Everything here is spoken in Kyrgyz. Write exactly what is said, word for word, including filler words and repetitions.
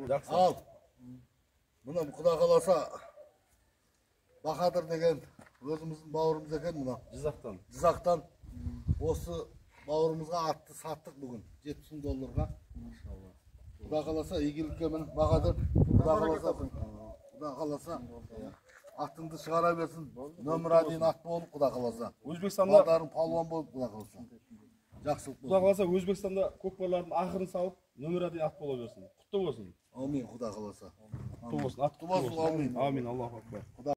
Жакшы. Ал. Мына Кудай кааласа Бахадыр деген өзүмүздүн бауырумуз экен мына. Жизактан. Жизактан осы бауырумузга атты саттык бүгүн жети миң долларга. Иншалла. Кудай кааласа ийгиликке менен Бахадыр. Кудай кааласа Кудай кааласа атыңды чыгара берсин. Нөмір один ат болуп Кудай кааласа. Өзбекстанда Балдарың палуан болуп Кудай кааласа. Жакшылык болсун. Кудай кааласа Өзбекстанда көкпарлардын акырын салып, нөмір один ат боло берсин. Куттуу болсун. Амин Кудай кааласа. Куттуу болсун. Ат Куттуу болсун. Амин. Амин. Аллаху акбар.